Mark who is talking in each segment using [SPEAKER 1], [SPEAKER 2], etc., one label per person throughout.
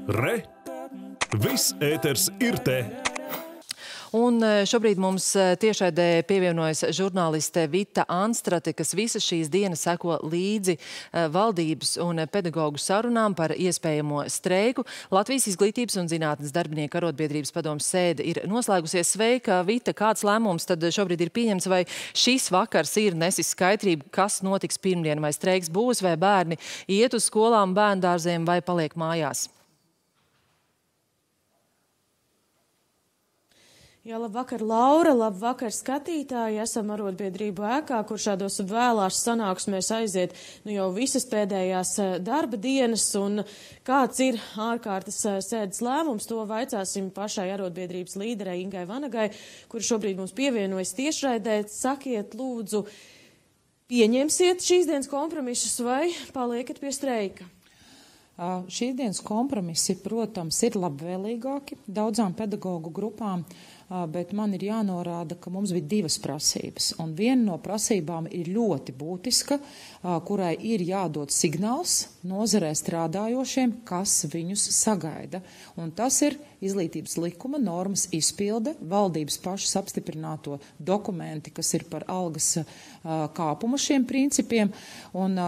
[SPEAKER 1] Re! Viss ēters ir te!
[SPEAKER 2] Un šobrīd mums tiešraidē pievienojas žurnāliste Vita Anstrate, kas visas šīs dienas seko līdzi valdības un pedagoģu sarunām par iespējamo streiku. Latvijas izglītības un zinātnes darbinieku arotbiedrības padomes sēde ir noslēgusies. Sveika, Vita, kāds lēmums tad šobrīd ir pieņemts, vai šis vakars ir nesis skaidrību, kas notiks pirmdien, vai streiks būs, vai bērni iet uz skolām, bērndārziem vai paliek mājās?
[SPEAKER 3] Jā, labvakar, Laura, labvakar, skatītāji. Esam arotbiedrību ēkā, kur šādos vēlās sanāksmēs aiziet jau visas pēdējās darba dienas. Un kāds ir ārkārtas sēdes lēmums, to vaicāsim pašai arotbiedrības līderei Ingai Vanagai, kur šobrīd mums pievienojas tiešraidē. Sakiet, lūdzu, pieņemsiet šīs dienas kompromisus vai paliekat pie streika?
[SPEAKER 4] Šīs dienas kompromisi, protams, ir labvēlīgāki daudzām pedagoģu grupām, bet man ir jānorāda, ka mums bija divas prasības. Un viena no prasībām ir ļoti būtiska, kurai ir jādod signāls nozarē strādājošiem, kas viņus sagaida. Un tas ir izglītības likuma normas izpilde, valdības pašas apstiprināto dokumenti, kas ir par algas kāpumu šiem principiem. Un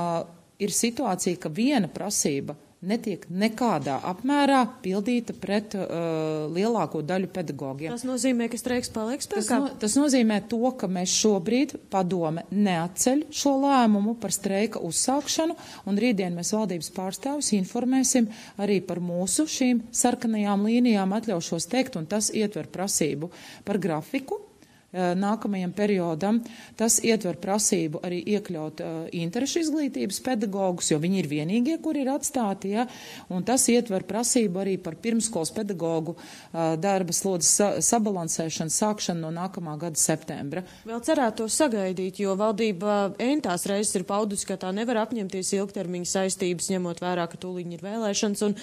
[SPEAKER 4] ir situācija, ka viena prasība netiek nekādā apmērā pildīta pret lielāko daļu pedagogiem.
[SPEAKER 3] Tas nozīmē, ka streiks paliek spēkā?
[SPEAKER 4] Tas nozīmē to, ka mēs šobrīd padome neatceļ šo lēmumu par streika uzsākšanu, un rītdien mēs valdības pārstāvis informēsim arī par mūsu šīm sarkanajām līnijām, atļaušos teikt, un tas ietver prasību par grafiku nākamajam periodam. Tas ietver prasību arī iekļaut interešu izglītības pedagogus, jo viņi ir vienīgie, kuri ir atstāti, ja? Un tas ietver prasību arī par pirmskolas pedagogu darba slodzes sabalansēšanu, sākšanu no nākamā gada septembra.
[SPEAKER 3] Vēl cerētu to sagaidīt, jo valdība entās reizes ir paudusi, ka tā nevar apņemties ilgtermiņa saistības, ņemot vērā, ka tūlīt ir vēlēšanas. Un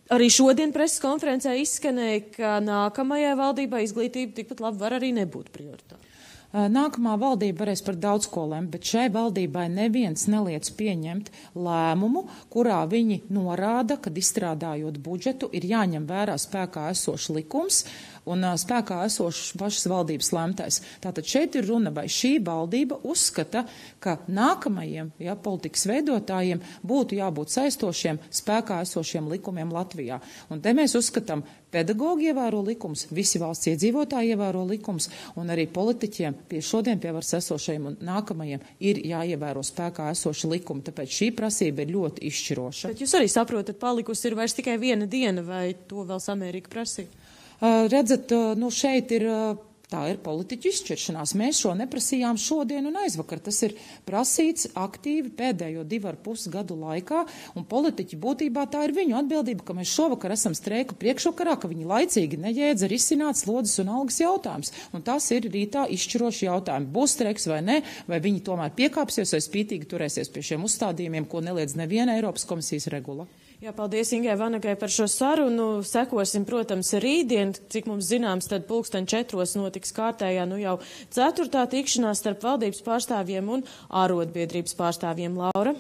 [SPEAKER 3] arī šodien preses konferencē izskanēja, ka nākamajai valdībai izglītība tikpat labi var arī nebūt prioritāte.
[SPEAKER 4] Nākamā valdība varēs par daudz ko lemt, bet šai valdībai neviens neliec pieņemt lēmumu, kurā viņi norāda, ka izstrādājot budžetu ir jāņem vērā spēkā esošs likums un spēkā esošs pašas valdības lemtais. Tātad šeit ir runa, vai šī valdība uzskata, ka nākamajiem politikas veidotājiem būtu jābūt saistošiem spēkā esošiem likumiem Latvijā. Un te mēs uzskatām, pedagoģi ievēro likums, visi valsts iedzīvotāji ievēro likums, un arī politiķiem šodien pie varas esošajiem un nākamajiem ir jāievēro spēkā esoši likumi, tāpēc šī prasība ir ļoti izšķiroša.
[SPEAKER 3] Bet jūs arī saprotat, palikusi ir vairs tikai viena diena, vai to vēl samērīgi prasīt?
[SPEAKER 4] Redzat, šeit ir... Tā ir politiķu izšķiršanās. Mēs šo neprasījām šodien un aizvakar. Tas ir prasīts aktīvi pēdējo 2,5 gadu laikā, un politiķi būtībā tā ir viņu atbildība, ka mēs šovakar esam streiku priekšvakarā, ka viņi laicīgi neģēdza risināt slodzes un algas jautājums. Un tas ir rītā izšķiroši jautājumi. Būs streiks vai ne, vai viņi tomēr piekāpsies vai spītīgi turēsies pie šiem uzstādījumiem, ko neliedz neviena Eiropas komisijas regula.
[SPEAKER 3] Jā, paldies Ingai Vanagai par šo sarunu. Sekosim, protams, rītdien, cik mums zināms, tad 4:00 notiks kārtējā jau 4. tikšanās starp valdības pārstāvjiem un arotbiedrības pārstāvjiem. Laura?